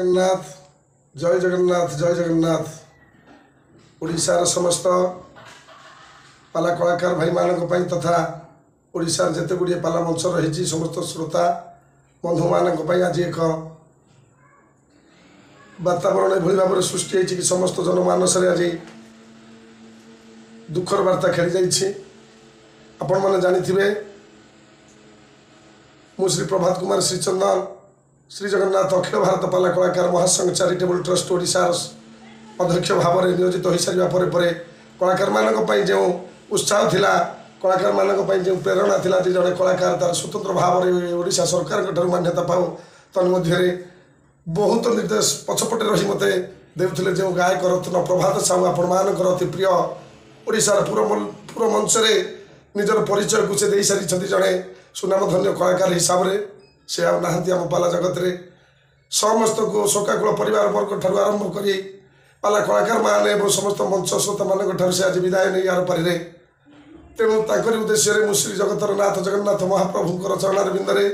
ଜଗନ୍ନାଥ, ଜୟ ଜଗନ୍ନାଥ, ଜୟ ଜଗନ୍ନାଥ। ଓଡ଼ିଶାର ସମସ୍ତ ପାଲା କଳାକାର ଭାଇମାନଙ୍କ ପାଇଁ ତଥା ଓଡ଼ିଶାର ଯେତେ ଗୁଡ଼ିଏ ପାଲା ମଞ୍ଚ ରହିଛି ସମସ୍ତ ଶ୍ରୋତା ବନ୍ଧୁମାନଙ୍କ ପାଇଁ ଆଜି ଏକ ବାତାବରଣ ଏଭଳି ଭାବରେ ସୃଷ୍ଟି ହେଇଛି କି ସମସ୍ତ ଜନମାନସରେ ଆଜି ଦୁଃଖର ବାର୍ତ୍ତା ଖେଳିଯାଇଛି। ଆପଣମାନେ ଜାଣିଥିବେ, ମୁଁ ଶ୍ରୀ ପ୍ରଭାତ କୁମାର ଶ୍ରୀଚନ୍ଦନ, ଶ୍ରୀ ଜଗନ୍ନାଥ ଅଖିଳ ଭାରତ ପାଲା କଳାକାର ମହାସଂଘ ଚାରିଟେବୁଲ୍ ଟ୍ରଷ୍ଟ ଓଡ଼ିଶାର ଅଧ୍ୟକ୍ଷ ଭାବରେ ନିୟୋଜିତ ହୋଇସାରିବା ପରେ ପରେ କଳାକାରମାନଙ୍କ ପାଇଁ ଯେଉଁ ଉତ୍ସାହ ଥିଲା, କଳାକାରମାନଙ୍କ ପାଇଁ ଯେଉଁ ପ୍ରେରଣା ଥିଲା ଯେ ଜଣେ କଳାକାର ତାର ସ୍ୱତନ୍ତ୍ର ଭାବରେ ଓଡ଼ିଶା ସରକାରଙ୍କ ଠାରୁ ମାନ୍ୟତା ପାଉ, ତନ୍ମଧ୍ୟରେ ବହୁତ ନିର୍ଦ୍ଦେଶ ପଛପଟେ ରହି ମୋତେ ଦେଉଥିଲେ ଯେଉଁ ଗାୟକ ରତ୍ନ ପ୍ରଭାତ ସାହୁ, ଆପଣମାନଙ୍କର ଅତି ପ୍ରିୟ, ଓଡ଼ିଶାର ପୁର ମଞ୍ଚରେ ନିଜର ପରିଚୟକୁ ସେ ଦେଇସାରିଛନ୍ତି ଜଣେ ସୁନାମଧନ୍ୟ କଳାକାର ହିସାବରେ। ସେ ଆଉ ନାହାନ୍ତି ଆମ ପାଲା ଜଗତରେ। ସମସ୍ତଙ୍କୁ ଶୋକାକୁଳ ପରିବାର ବର୍ଗ ଠାରୁ ଆରମ୍ଭ କରି ପାଲା କଳାକାରମାନେ ଏବଂ ସମସ୍ତ ମଞ୍ଚ ଶ୍ରୋତାମାନଙ୍କ ଠାରୁ ସେ ଆଜି ବିଦାୟ ନେଇ ଆର ପାରିରେ। ତେଣୁ ତାଙ୍କରି ଉଦ୍ଦେଶ୍ୟରେ ମୁଁ ଶ୍ରୀ ଜଗତର ନାଥ ଜଗନ୍ନାଥ ମହାପ୍ରଭୁଙ୍କର ଚରଣାର ବିନ୍ଦରେ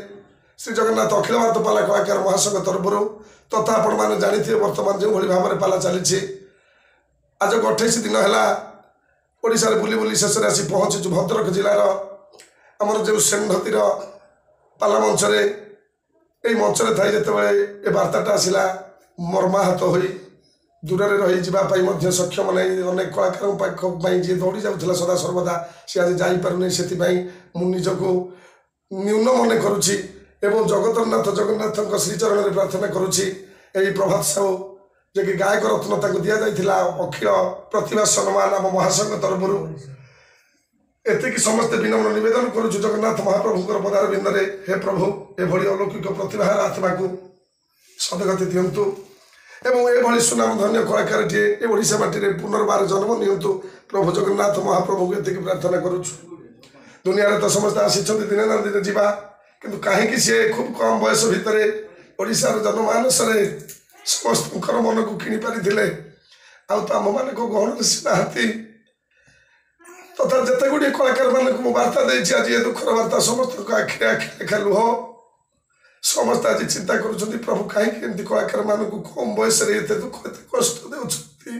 ଶ୍ରୀ ଜଗନ୍ନାଥ ଅଖିଳ ଭାରତ ପାଲା କଳାକାର ମହାସଂଘ ତରଫରୁ ତଥା ଆପଣମାନେ ଜାଣିଥିବେ ବର୍ତ୍ତମାନ ଯେଉଁଭଳି ଭାବରେ ପାଲା ଚାଲିଛି, ଆଜକୁ 28 ଦିନ ହେଲା ଓଡ଼ିଶାରେ ବୁଲି ବୁଲି ଶେଷରେ ଆସି ପହଞ୍ଚିଛୁ ଭଦ୍ରକ ଜିଲ୍ଲାର ଆମର ଯେଉଁ ଷେଣ୍ଢତୀର ପାଲା ମଞ୍ଚରେ। ଏଇ ମଞ୍ଚରେ ଥାଇ ଯେତେବେଳେ ଏ ବାର୍ତ୍ତାଟା ଆସିଲା, ମର୍ମାହତ ହୋଇ ଦୂରରେ ରହିଯିବା ପାଇଁ ମଧ୍ୟ ସକ୍ଷମ ନାହିଁ। ଅନେକ କଳାକାରଙ୍କ ପାଖ ପାଇଁ ଯିଏ ଦୌଡ଼ି ଯାଉଥିଲା ସଦା ସର୍ବଦା, ସେ ଆଜି ଯାଇପାରୁନି। ସେଥିପାଇଁ ମୁଁ ନିଜକୁ ନ୍ୟୁନ ମନେ କରୁଛି ଏବଂ ଜଗତରନାଥ ଜଗନ୍ନାଥଙ୍କ ଶ୍ରୀଚରଣରେ ପ୍ରାର୍ଥନା କରୁଛି, ଏହି ପ୍ରଭାତ ସାହୁ ଯିଏକି ଗାୟକ ରତ୍ନ ତାଙ୍କୁ ଦିଆଯାଇଥିଲା ଅଖିଳ ପ୍ରତିଭା ସମ୍ମାନ ଆମ ମହାସଂଘ ତରଫରୁ, ଏତିକି ସମସ୍ତେ ବିନମ୍ର ନିବେଦନ କରୁଛୁ ଜଗନ୍ନାଥ ମହାପ୍ରଭୁଙ୍କର ପଦାର ବିନ୍ଦରେ, ହେ ପ୍ରଭୁ, ଏଭଳି ଅଲୌକିକ ପ୍ରତିଭାର ଆତ୍ମାକୁ ସଦଗତି ଦିଅନ୍ତୁ ଏବଂ ଏଭଳି ସୁନାମଧନ୍ୟ କଳାକାରଟିଏ ଏ ଓଡ଼ିଶା ମାଟିରେ ପୁନର୍ବାର ଜନ୍ମ ନିଅନ୍ତୁ। ପ୍ରଭୁ ଜଗନ୍ନାଥ ମହାପ୍ରଭୁଙ୍କୁ ଏତିକି ପ୍ରାର୍ଥନା କରୁଛୁ। ଦୁନିଆରେ ତ ସମସ୍ତେ ଆସିଛନ୍ତି, ଦିନେ ନା ଦିନେ ଯିବା, କିନ୍ତୁ କାହିଁକି ସିଏ ଖୁବ୍ କମ୍ ବୟସ ଭିତରେ ଓଡ଼ିଶାର ଜନମାନସରେ ସମସ୍ତଙ୍କର ମନକୁ କିଣି ପାରିଥିଲେ, ଆଉ ତ ଆମମାନଙ୍କ ଗହଣରେ ସେ ନାହାନ୍ତି। ତଥା ଯେତେ ଗୁଡ଼ିଏ କଳାକାରମାନଙ୍କୁ ମୁଁ ବାର୍ତ୍ତା ଦେଇଛି, ଆଜି ଏ ଦୁଃଖର ବାର୍ତ୍ତା ସମସ୍ତଙ୍କ ଆଖିରେ ଆଖି ଲେଖା ଲୁହ। ସମସ୍ତେ ଆଜି ଚିନ୍ତା କରୁଛନ୍ତି, ପ୍ରଭୁ କାହିଁକି ଏମିତି କଳାକାରମାନଙ୍କୁ କମ୍ ବୟସରେ ଏତେ ଦୁଃଖ ଏତେ କଷ୍ଟ ଦେଉଛନ୍ତି।